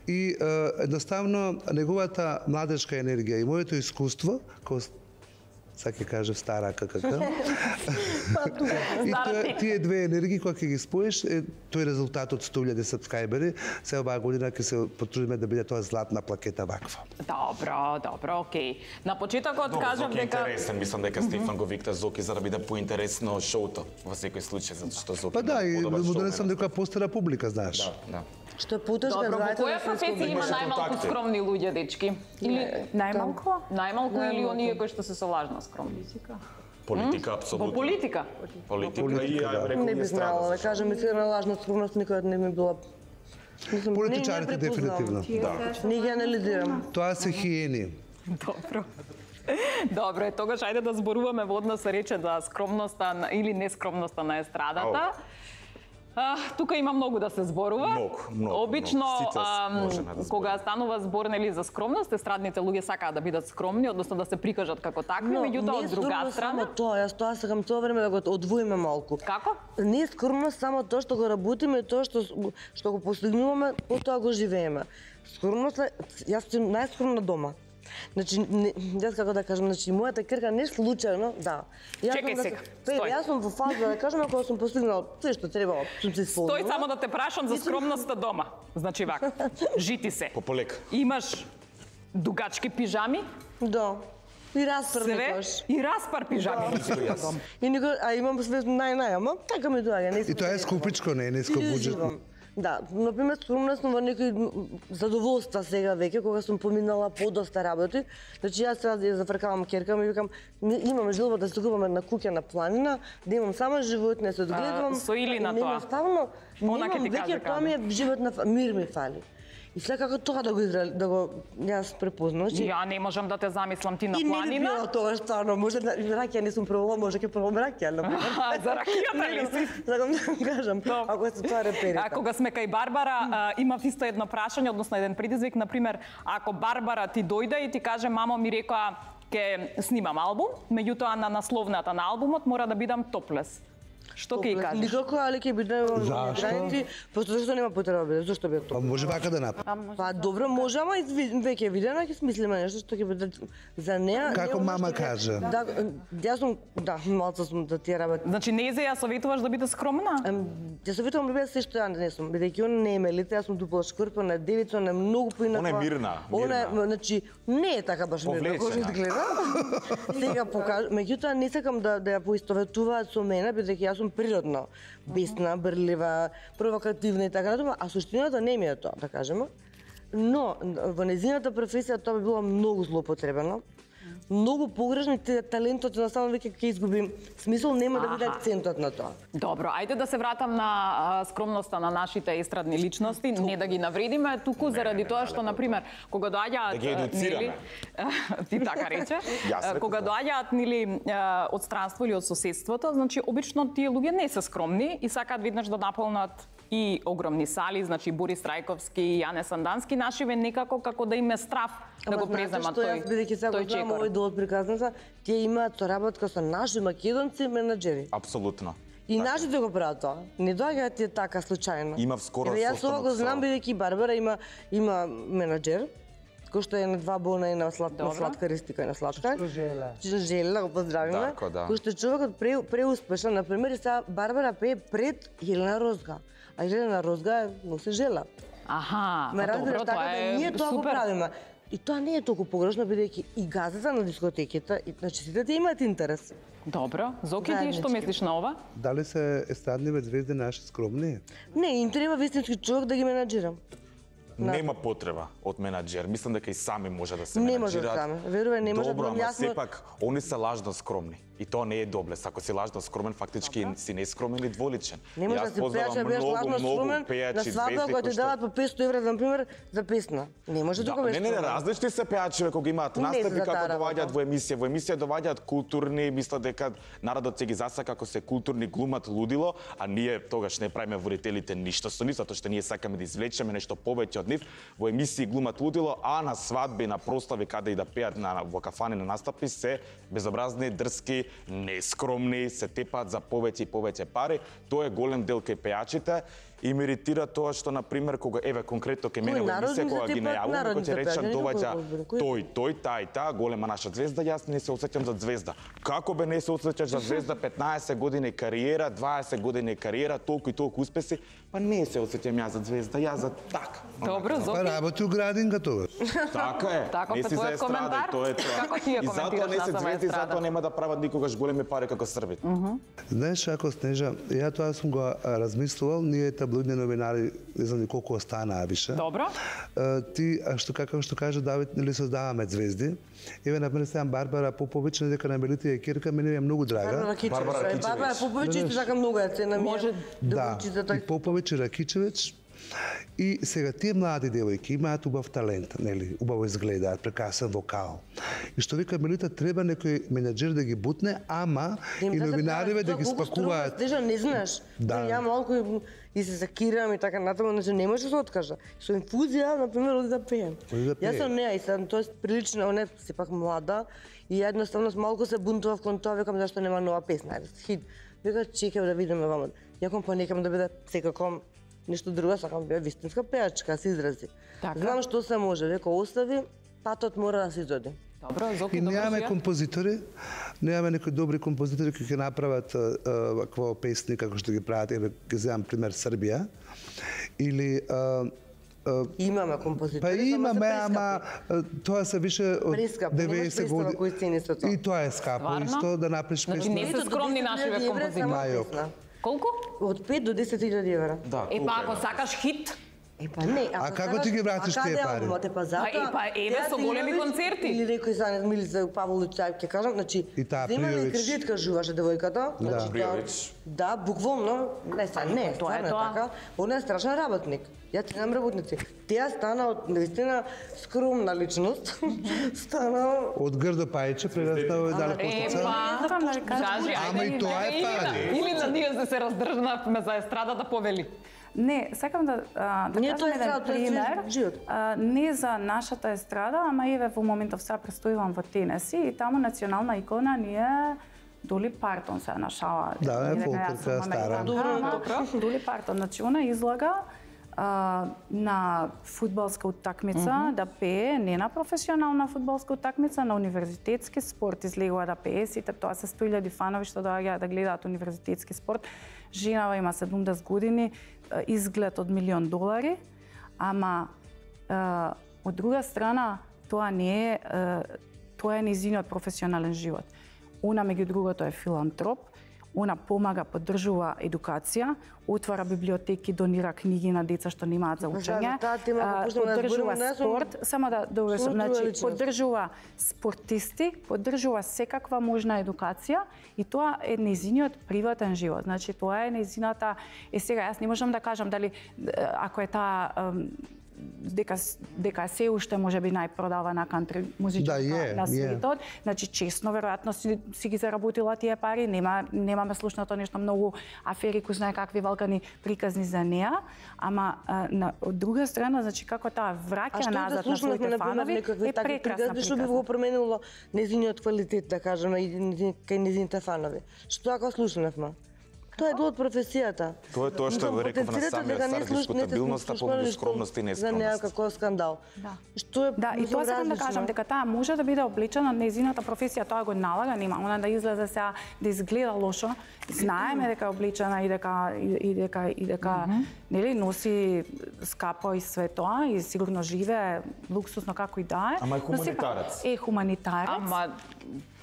И едноставно неговата младежка енергија и моето искуство, како сега ќе кажев стара ККК. И тие две енергии кога ќе ги споиш, тој резултат од 100.000 сабскрајбери, се оваа година ќе се потрудиме да биде тоа златна плакета ваква. Добро, окей. На почетокот кажав Зоки е дека интересен, мислам дека Стефан го викта Зоки за да биде поинтересно шоуто во секој случај, затоа што Зоки Па да, и подобар му шоумен. донесам некоја постара публика, знаеш. Да. Што е потешка Добро, во знаете која професија има Имаше најмалку контакти. скромни луѓе, дечки? Или Најмалку? најмалку или оние кои што се со лажна скромност? Политика Во апсолутно. политика? Политика и Политика, ја да. рекол Не ми би е знала, да страда. кажем, искрена лажна скромност никогаш не ми била. Мислам, Политичарите не препознавам. дефинитивно. Не ги анализирам. Тоа се хиени. Добро. Добро, тогаш ајде да зборуваме во однос рече за скромноста или нескромноста на естрадата. Тука има многу да се зборува. Многу, Обично, многу. Сите можеме да кога збориме. станува збор нели за скромност, естрадните луѓе сакаат да бидат скромни, односно да се прикажат како такви, меѓутоа од друга само страна. тоа, јас тоа сакам цело време да го одвоиме малку. Како? Не е скромно само тоа што го работиме, тоа што го постигнуваме, потоа го живееме. Скромност е, јас сум најскромна дома. Значи, јас како да кажам, значи, мојата кирка не случајно, да. Чекај сега, стој. Јас сум во фаза, да кажам, кога сум постигнала се што требало, сум се исполнила. Стој само да те прашам за скромноста дома. Значи вака, жити се. Пополека. Имаш дугачки пижами, Да. И распар све некош. и распар пижами. И никој, а имам све нај, ама така ми доаѓа, не И тоа е скупичко, не е ниско буџетно. Да, например, скромност во некои задоволства сега веќе, кога сум поминала подоста работи. Значи, јас сега ја зафркавам керка, ми викам, имам желба да се купам една куќа на планина, да имам само животни, се одгледувам. со или на Нема тоа? ставно, Она ќе немам ти веќе, каже тоа ми е живот на мир ми фали. И секако тоа да го јас препознав. Ја не можам да те замислам ти на И не би планина. било тоа стварно, може да ракија не сум пробувала, може ќе пробам ракија, например. За ракијата ли си? Сакам да кажам, ако се тоа реперите. А кога сме кај Барбара, имав исто едно прашање, односно еден предизвик, например, ако Барбара ти дојде и ти каже, мамо ми рекоа ќе снимам албум, меѓутоа на насловната на албумот мора да бидам топлес. Што ќе кажеш? Никако, али ќе биде Зашто? граници, просто зашто нема потреба да биде, зашто би Па тоа? може вака да направи. Па добро, може, ама и веќе видена ќе смислиме нешто што ќе биде за неа. Како не, мама што ќе- кажа. Да, јас сум, малку сум да тие работи. Значи не ја советуваш да биде скромна? Ја советувам да биде се што ја не сум, бидејќи она не е мелица, јас сум дупла шкрпена, девица, она е многу поинаква. Она е мирна, Она е, мирна. значи, не е така баш мирна, како што Повлечена. изгледа. Сега меѓутоа не сакам да ја поистоветуваат со мене, бидејќи јас сум природно бесна, брлива, провокативна и така натаму, а суштината не ми е тоа, да кажеме. Но во незината професија тоа би било многу злоупотребено. Многу погрешно и талентот едноставно веќе ќе изгуби смисол, нема да биде акцентот на тоа. Добро, ајде да се вратам на скромноста на нашите естрадни личности, не да ги навредиме, туку заради тоа што, например, кога доаѓаат... Да ги едуцираме. ти така рече, Јас реков, кога да. доаѓаат, нели, од странство или од соседството, значи, обично тие луѓе не се скромни и сакаат веднаш да наполнат и огромни сали, значи Борис Трајковски, Јане Сандански, нашиве некако како да им е страф да го преземат тој. Јас бидејќи сега тој знам чекор. овој дел од приказната, тие имаат соработка со наши македонци менаџери. Апсолутно. И нашите го прават тоа. Не доаѓаат тие така случајно. Имав скоро Еве, јас ова го состанок со- знам бидејќи Барбара има менаџер, кој што е на два бона и на сладка ристика и на сладка. Жела, го поздравиме. Дарко, да. Кој што е човекот преуспешен, на пример, и сега Барбара пее пред Елена Розга. А Елена Розга носи жела. Аха, Ме па разбираш, добро, така тоа да е ние тоа го супер. правиме. И тоа не е толку погрешно, бидејќи и газата на дискотеките, значи сите ти имаат интерес. Добро, Зоки, ти што Заеднички. мислиш на ова? Дали се естрадниве звезди наши скромни? Не, им треба вистински човек да ги менаџира. Нема потреба од менаџер. Мислам дека и сами може да се Не може менаџираат. сами. Верувај, не може. Добро, ама Јасно- сепак они се лажно скромни. И тоа не е доблес. Ако си лажно скромен, фактички си нескромен и дволичен. Не може Јас да си познавам пејач, бидеш лажно скромен пејачи, на свадба звезди која кои ти што- даваат по 500 евра, на пример, за песна. Не може Да, тука не, различни се пејачи кога имаат Не настапи се за таа како работа. доаѓаат во емисија. Во емисија доаѓаат културни, мислат дека народот се ги засака како се културни глумат лудило, а ние тогаш не правиме водителите ништо со нив, затоа што ние сакаме да извлечеме нешто повеќе од нив. Во емисии глумат лудило, а на свадби, на прослави каде и да пеат во кафани на настапи се безобразни, дрски, нескромни, се тепаат за повеќе и повеќе пари. Тоа е голем дел кај пејачите. И ме иритира тоа што, например, кога, еве, конкретно кај мене во емисија, кога ги најавуваме, кој ќе речам, доваѓа тој, таа и таа, голема наша звезда, јас не се осеќам за звезда. Како бе не се осеќаш за звезда, 15 години кариера, 20 години кариера, толку и толку успеси, па не се осеќам јас за звезда, јас за така. Добро, Па Зоки. работи у градинка тоа. Така е. Таков не е си за твојот естрада, коментар? и тоа е тоа. Како ти ја И затоа коментираш не се на сама звезди, естрада? затоа нема да прават никогаш големи пари како србите. Знаеш како, Снежа, ја тоа сум го размислувал, ние таблоидни новинари, не знам ни колку останаа више. Добро. Ти, како што кажа Давид, нели создаваме звезди. Еве, например, сега Барбара Поповиќ, дека на Мелитија Кирка, мене е многу драга. Барбара Кичевич. Барбара Поповиќ исто така многу ја цена ми. Може Да, и Поповиќ и Ракичевиќ. И сега тие млади девојки имаат убав талент, нели, убаво изгледаат, прекрасен вокал. И што вика Мелита, треба некој менаџер да ги бутне, ама и новинариве да ги спакуваат. Стежа, не знаеш. Да. Ја малку и се закирам и така натаму, значи не може да се откажа. Со инфузија, на пример, оди да пеем. Оди да пее. Јас сум неа и сам, тоа прилично, она е сепак млада и едноставно малку се бунтував кон тоа, викам зашто нема нова песна, хит. Вика чекам да видиме ваму. Јаком па некам да биде секако нешто друго, сакам да биде вистинска пеачка, се изрази. Така. Знам што се може, века остави, патот мора да се изоди. Добро, Зоки, И добро немаме си ја. композитори, немаме некои добри композитори кои ќе направат вакво песни како што ги прават, еве ќе земам пример Србија, или Имаме композитори, па само се имаме, прескапи. ама тоа се више од Прескапи, немаш 90 представа години. кои цени се тоа. И тоа е скапо Стварно? исто да направиш Значи, песна. не се скромни нашиве композитори. Мајок. Колку? Од 5 до 10.000 евра. Да, Е, толку па е, ако да. сакаш хит, Епа не, А како ти ги вратиш тие пари? Па затоа. Еве со големи концерти. Или некој за Милица Павлович ќе кажам, значи И таа земаме Пријовиќ. кредит кажуваше девојката. Да. Значи, Пријовиќ. Да, буквално, не, стварно е така. Она е страшен работник. Ја ценам работници. Таа стана од наистина скромна личност. Стана Од грдо пајче прераснало и дали постица. Кажи, Ама и тоа е пари. Или на ние се раздржнавме за естрадата повели. Не, сакам да Не, кажам тоа е еден естрадата, тоа е пример. живот. Не за нашата естрада, ама еве во моментов сега престојувам во Тенеси и таму национална икона ни е Доли Партон, се нашала. Да, е фолкерка стара. Доли Партон, значи она излага на фудбалска утакмица да пее, не на професионална фудбалска утакмица, на универзитетски спорт излегува да пее, сите тоа се 100.000 фанови што доаѓаат да гледаат универзитетски спорт. Женава има 70 години, изглед од $1.000.000, ама од друга страна тоа не е тоа е нејзиниот професионален живот. Она меѓу другото е филантроп, она помага, поддржува едукација, отвара библиотеки, донира книги на деца што немаат за учење, поддржува спорт, само да довршам, значи поддржува спортисти, поддржува секаква можна едукација и тоа е нејзиниот приватен живот. Значи тоа е нејзината, сега јас не можам да кажам дали ако е таа дека се уште можеби најпродавана кантри музичка на светот. Значи честно веројатно си ги заработила тие пари, немаме слушнато нешто многу афери кои знае какви валкани приказни за неа, ама од друга страна, значи како таа враќа назад на своите фанови е прекрасна приказна. Што би го променило нејзиниот квалитет, да кажеме, кај нејзините фанови? Што ако слушнавме? Тоа е дел од професијата. Тоа е тоа што го реков на самиот старт, дискутабилноста помеѓу скромност и За некако скандал. Што е да, и тоа сакам да кажам дека таа може да биде облечена на нејзината професија, тоа го налага, нема она да излезе сега да изгледа лошо. Знаеме дека е облечена и дека нели носи скапо и све тоа и сигурно живее луксусно како и да е. Ама е хуманитарец. Е хуманитарец. Ама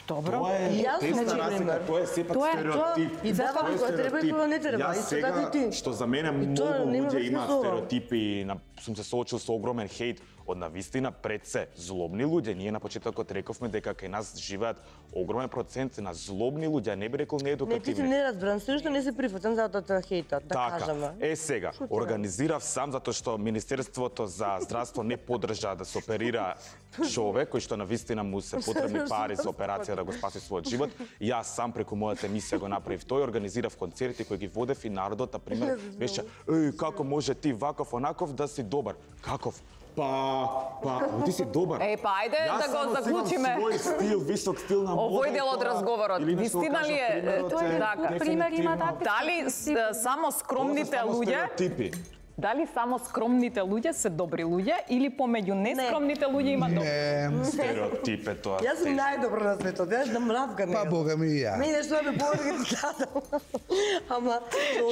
добро. Тоа е тесна разлика, тоа е сепак стереотип. И да, кога треба и кога не треба. Јас сега, што за мене многу луѓе имаат стереотипи, сум се соочил со огромен хејт од навистина пред се злобни луѓе. Ние на почетокот рековме дека кај нас живеат огромен процент на злобни луѓе, не би рекол неедукативни. Не, ти си неразбран, се што не се прифатен за тоа хејтот, да кажеме. Сега, организирав сам затоа што Министерството за здравство не поддржа да се оперира човек кој што навистина му се потребни пари за операција да го спаси својот живот. Јас сам преку мојата емисија го направив тој, организирав концерти кои ги водев и народот, на пример, беше како може ти ваков онаков да си добар. Каков? Ти си добар. Ајде да го заклучиме. Јас свој стил, висок стил на мода. Овој дел од разговорот. Вистина ли е? Така. Пример има такви. Дали само скромните луѓе? Дали само скромните луѓе се добри луѓе или помеѓу нескромните луѓе има добри? Не. Стереотип е тоа. Јас сум најдобро на светот, јас да мравка не. Па бога ми и ја. Мене што ме повеќе страдам. Ама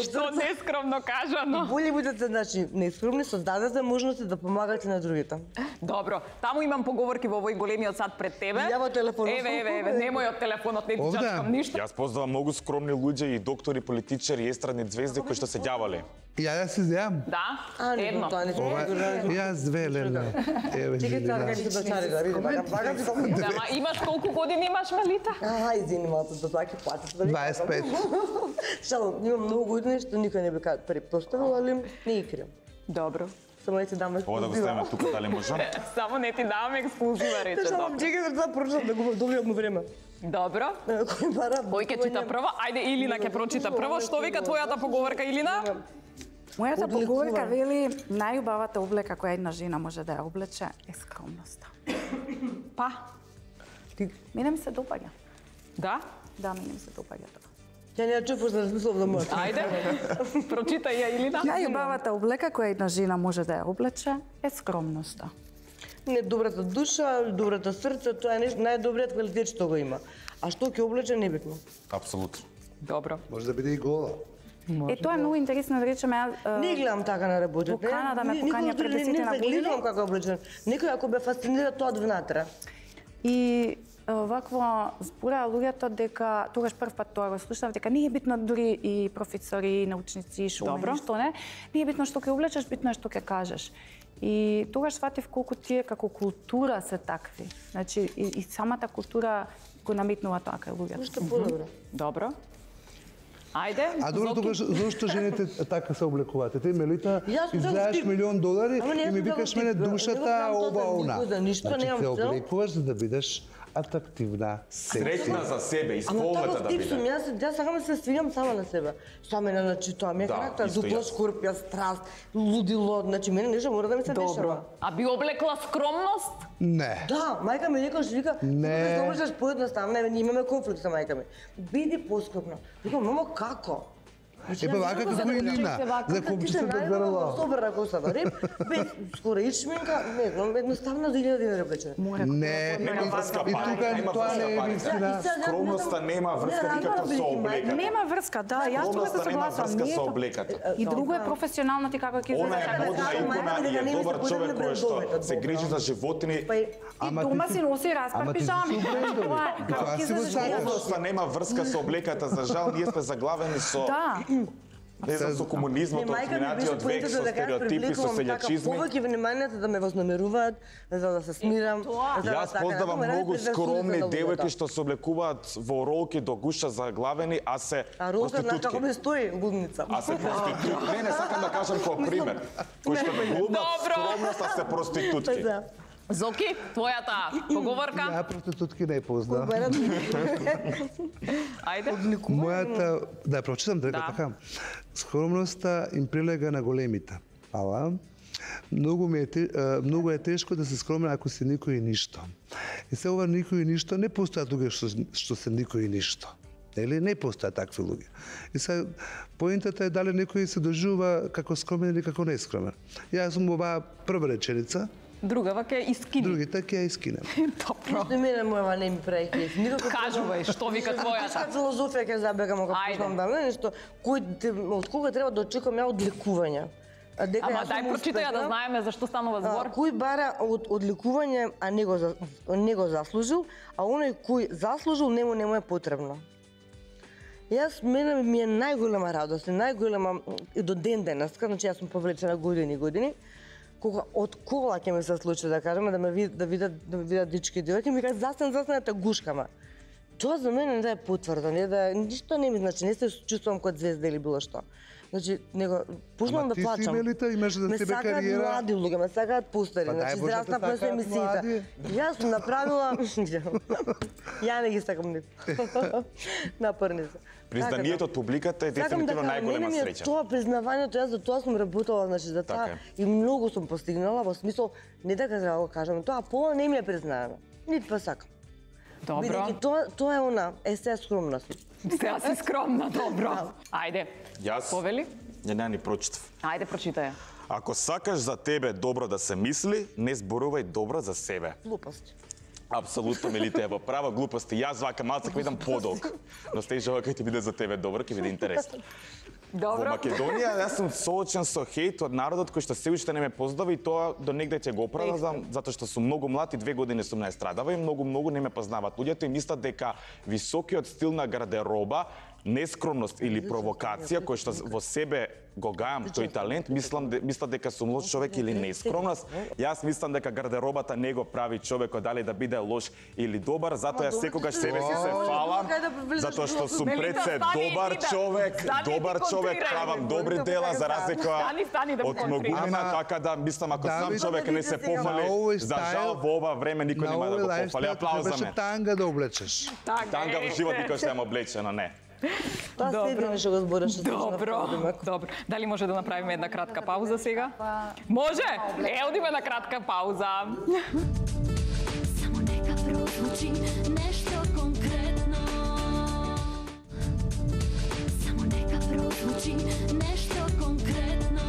што нескромно кажано. Боли будете, значи, нескромни, создадете можности да помагате на другите. Добро, таму имам поговорки во овој големиот сад пред тебе. Јаво телефонот. Еве, немој од телефонот, не ти чачкам ништо. Јас познавам многу скромни луѓе и доктори, политичари, естрадни звезди кои што се ѓавале. Ја да се земам. Да, едно. Јас две леле. Еве. Чекај сега ќе се дочари да види, бага. Ама имаш колку години имаш, Мелита? Извини, малку за тоа ќе платите. 25. Шалом, имам многу години што никој не би предпоставил, али не ги крием. Добро. Само не ти дам Ова да го ставиме тука, дали можам? Само не ти давам ексклузива, рече. Шалом, чекај да прочитам да го добијам време. Добро. Кој ќе чита прво? Ајде, Илина ќе прочита прво. Што вика твојата поговорка, Илина? Мојата поговорка вели најубавата облека која една жена може да ја облече е скромноста. Па? Мене ми се допаѓа. Да? Да, мене ми се допаѓа тоа. Ја не ја чув, да размислам да може. Ајде, прочитај ја, Илина. Најубавата облека која една жена може да ја облече е скромноста. Не, добрата душа, добрата срце, тоа е нешто најдобриот квалитет што го има. А што ќе облече небитно. Апсолутно. Добро. Може да биде и гола. Тоа е многу интересно да речеме. Не гледам така на работите. Во Канада ме покања пред 10 години. Не гледам како облечен. Некој ако бе фасцинира тоа од внатре. И вакво збора луѓето дека тогаш прв пат тоа го слушнав дека не е битно дури и професори, научници, шоумени, што не е битно што ќе облечеш, битно е што ќе кажеш. И тогаш сватив колку тие како култура се такви. Значи и самата култура го наметнува тоа кај луѓето. Уште подобро. Добро. Ајде, А добро, тогаш зошто жените така се облекуваат? Ти, Мелита, Јас сум изгледаш тип. $1.000.000 Ама не и ми сум викаш таков мене тип, бе. душата, Не го ова, правам она. тоа за ништо, Значи, немам се цел. облекуваш за да бидеш атрактивна, Среќна секси. за себе, Ама исполната таков да тип сум, биде. јас сакам да се свиѓам сама на себе. Што мене, значи, тоа ми е Да, карактер, исто дупла јас. шкорпија, страст, лудило, значи мене нешто мора да ми се дешава. А би облекла скромност? Не. Да, мајка ми викаш, вика, Не. да можеш поедноставно, не имаме конфликт со мајка ми. Биди поскромна. Викам, мамо, како? Епа вака како и Нина, за копчица да грло. Собра косата реп, без скоро ичменка, не знам, едноставно за 1000 dinari облечена. Не, Нема врска, и пари, тука нема тоа врска, не е пари. вистина. Скромноста нема врска никаква со облеката. Нема врска, да, јас тоа Скромноста се нема согласувам. врска Не е со тоа. облеката. И друго е професионално ти како ќе Она е изгледаш. модна икона и е добар човек кој што се грижи за животини. Па и И Ама дома ти си носи распар ама ти си пижами. су брендови. Тоа е, како Тоа ќе си го излезеш сакаш. јас. Скромноста нема врска со облеката, за жал ние сме заглавени со Да. не знам со комунизмот, од минатиот век, со стереотипи, со селјачизми. Повеќе вниманието да ме вознамеруваат, за да се смирам. за да Јас така, познавам да многу предразсудите скромни на луѓето. девојки што се облекуваат во ролки до гуша заглавени, а се А Роза, знаеш како ми проститутки. стои лудница. А се проститутки. Не, сакам да кажам како пример. Кои што глумат Добро. скромност, а се проститутки. Да. Зоки, твојата поговорка? Ја проститутки не познам. Ајде. Мојата, да прочитам дека Да. така. Скромноста им прилега на големите. Ала многу е тешко да се скромен ако си никој и ништо. И се ова никој и ништо не постојат луѓе што се никој и ништо. Нели не постојат такви луѓе. И се поентата е дали некој се доживува како скромен или како нескромен. Јас сум оваа прва реченица, Другава ќе искини. другите ќе ја искинем. Добро. Што мене мојава не ми прави кеф. Никако Кажувај, што вика твојата? Тешка филозофија ќе забегам ако Ајде. почнам да нешто од кога треба да очекувам ја одлекување. А дека Ама јас дај сум прочитај ја да успешна, знаеме за што станува збор. Кој бара од одлекување, а не го заслужил, а оној кој заслужил нему е потребно. Јас мене ми е најголема радост, најголема и до ден денеска, значи јас сум повлечена години и години. Од кола ќе ми се случи да кажеме да ме видат дички и девојки, ми кажат застанете гушкама. Тоа за мене не е потврда, ништо не ми значи, не се чувствувам како звезда или било што. Значи, почнувам Ама да ти си, плачам. Мелита, имаш за Ме себе сакаат кариера. млади луѓе, ме сакаат постари, Па дај значи Боже, те израснав пред сакаат емисиите. млади. Јас сум направила, ја не ги сакам нив. Напорни се. Признанието од публиката е дефинитивно најголема мене ми е среќа. тоа признавањето, јас за тоа сум работела, значи за тоа Така и многу сум постигнала во смисол не дека треба да го кажам, тоа пола не ми е признаено. Ниту па сакам. Добро. Бидејќи тоа е она, се скромност. Сега си скромна, добро. Ајде. Јас Повели? не ни прочитав. Ајде прочитај. Ако сакаш за тебе добро да се мисли, не зборувај добро за себе. Глупост. Апсолутно, Мелите, е во права глупости. Јас вака малце ќе видам подолг. Но стежава кај ќе биде за тебе добро, ќе биде интересно. Во Добро. Македонија јас сум соочен со хејт од народот кој што се уште не ме познава и тоа до негде ќе го оправдам затоа што сум многу млад и 2 години сум на естрадава и многу не ме познаваат луѓето и мислат дека високиот стил на гардероба, нескромност или провокација кој што во себе го гајам тој талент, мислам дека сум лош човек или нескромност. Јас мислам дека гардеробата не го прави човекот дали да биде лош или добар, затоа јас секогаш себе си се фалам, затоа што сум пред се добар човек, правам добри дела за разлика Стани да од многумина, Ама, така да мислам ако сам Давид, човек не се на пофали, овој за стайл- жал во ова време никој нема да го пофали. Аплауз за Требаше мене. танга да облечеш. Танга во живот никој ќе ме облечено, не. Тоа се беше го збореше. Добро. Добро. Дали може да направиме една кратка пауза сега? Може? Одиме на кратка пауза. Само нека прозвучи нешто конкретно. Само нека прозвучи нешто конкретно.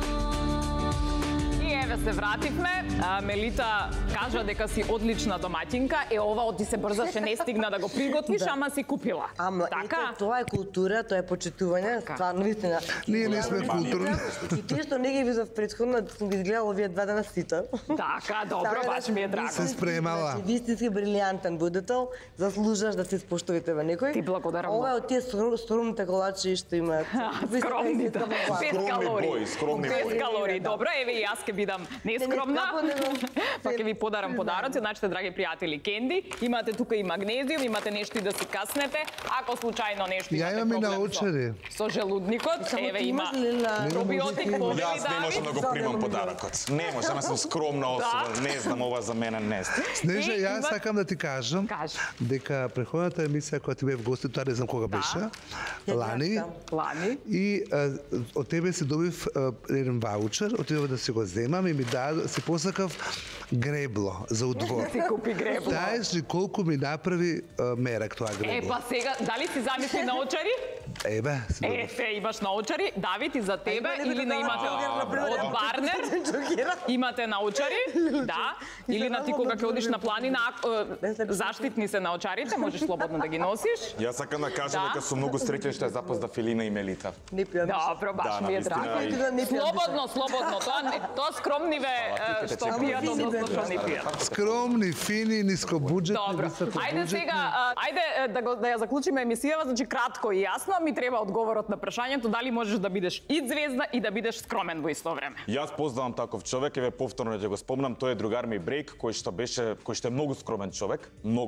И еве се вративме. Мелита кажа дека си одлична домаќинка. Ова ти се брзаше, не стигна да го приготвиш, ама си купила. Ама така? Тоа е култура, тоа е почитување, стварно вистина. Ние не сме културни. И тие што не ги видов претходно, сум ги изгледала овие 2 дена сите. Така, добро, баш ми е драго. Се спремала. Значи, вистински брилијантен будител, заслужаш да се споштувате во некој. Ти благодарам. Ова е од тие скромните колачи што имаат. Скромните. Без калории. скромни Без бои. калории. Добро, еве и јас ке бидам нескромна. Па ќе ви подарам подароци, значите драги пријатели, кенди. Имате тука и магнезиум, имате нешто и да си каснете. Ако случајно нешто Ја имате имам и проблем научари. со желудникот, еве има пробиотик повели Јас не можам да го примам подарокот. Не можам, јас сум скромна особа. Не знам, ова за мене не сте. Снежа, И јас има- сакам да ти кажам Кажи. дека преходната емисија која ти бев гости, тоа не знам кога беше, лани, Лани. и од тебе си добив еден ваучер, отидов да си го земам и ми си посакав гребло за удвор. Си купи гребло. Знаеш ли колку ми направи мерак тоа гребло? Па сега, дали си замисли научари? Ебе, си добив. Ефе, имаш научари. Давид, и за тебе има ли или да на имате дава од Барнер? Имате научари, да. Или на ти кога ќе одиш на планина, заштитни се научарите, можеш слободно да ги носиш. Јас сакам да кажам Да. дека сум многу среќен што ја запозна Филина и Мелита. Не пијам. Добро, баш Да, ми е навистина, драго. и- Слободно, слободно. Тоа скромниве питате што чека. пијат, односно што не пијат. Скромни, фини, нискобуџетни, Добро. Ајде сега, да ја заклучиме емисијава, значи кратко и јасно, ми треба одговорот на прашањето дали можеш да бидеш и звезда и да бидеш скромен во исто време. Јас познавам таков човек, еве повторно ќе го спомнам, тој е другар ми Брейк, кој што е многу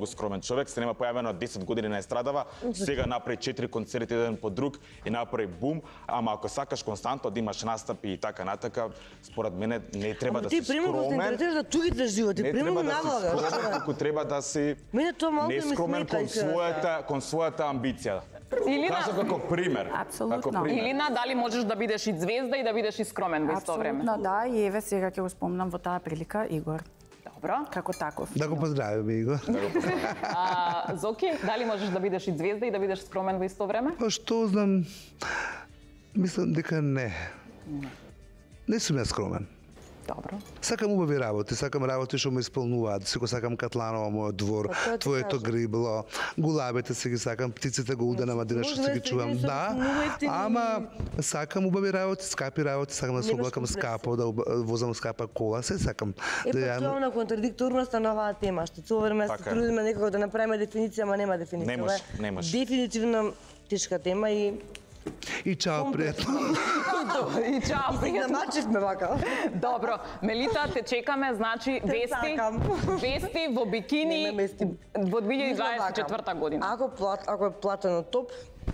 скромен човек, се нема појавено 10 години на естрадава, сега направи 4 концерти еден по друг и направи бум, ама ако сакаш константно да имаш настапи и така натака, според мене не треба да си Ти примерно се скромен. интересираш за другите животи, Не примерно треба да си навлагаш. скромен, туку треба да си Мене тоа малку ми нескромен смета. кон својата амбиција. Или Кажав на како пример. Апсолутно. Како пример. или на дали можеш да бидеш и звезда и да бидеш и скромен во исто време. Апсолутно, да, и еве сега ќе го спомнам во таа прилика Игор, Добро. како таков. Да го поздравиме, Игор. Зоки, дали можеш да бидеш и звезда и да бидеш скромен во исто време? Па што знам, мислам дека не. Не сум ја скромен. Добро. Сакам убави работи, сакам работи што ме исполнуваат. Сико сакам Катланова, мојот двор, тоа ти твоето кажам. грибло, гулабите се ги сакам, птиците го удена мадина што се ги чувам. Да, ама сакам убави работи, скапи работи, сакам да се Немаш облакам комплекс. скапо, да возам скапа кола, се сакам. Е, Да па ја- тоа е на контрадикторноста на оваа тема, што цело време се Така е. трудиме некако да направиме дефиниција, ама нема дефиниција. Не Ова може, е не може. Дефинитивно тешка тема и И чао, пријатно. И чао, пријатно. намачивме вака. Добро, Мелита, те чекаме, значи, вести, сакам. вести во бикини Нема вести. во Мислам 2024 година. Ако е платено топ,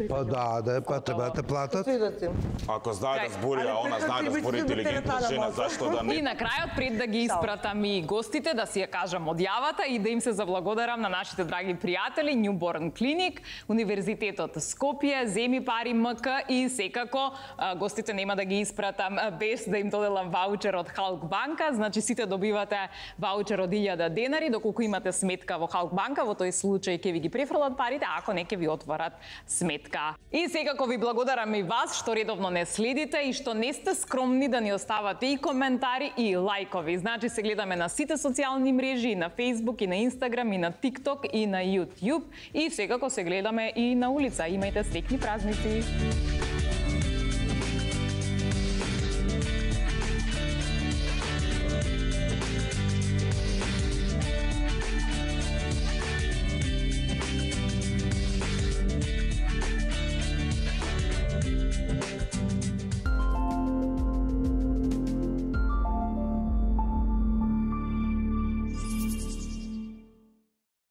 Па да, па треба да те платат. свидоци. Ако знае да Крај. збори, а она знае да збори интелигентна жена, зашто да И не? на крајот, пред да ги испратам и гостите, да си ја кажам одјавата и да им се заблагодарам на нашите драги пријатели, Newborn Clinic, Универзитетот Скопје, Земи пари МК и секако гостите нема да ги испратам без да им доделам ваучер од Халк банка, значи сите добивате ваучер од 1000 денари, доколку имате сметка во Халк банка, во тој случај ќе ви ги префрлат парите, а ако не ќе ви отворат сметка. И секако ви благодарам и вас што редовно не следите и што не сте скромни да ни оставате и коментари и лајкови. Значи се гледаме на сите социјални мрежи, и на Facebook, и на Instagram, и на TikTok, и на YouTube. И секако се гледаме и на улица. Имајте среќни празници!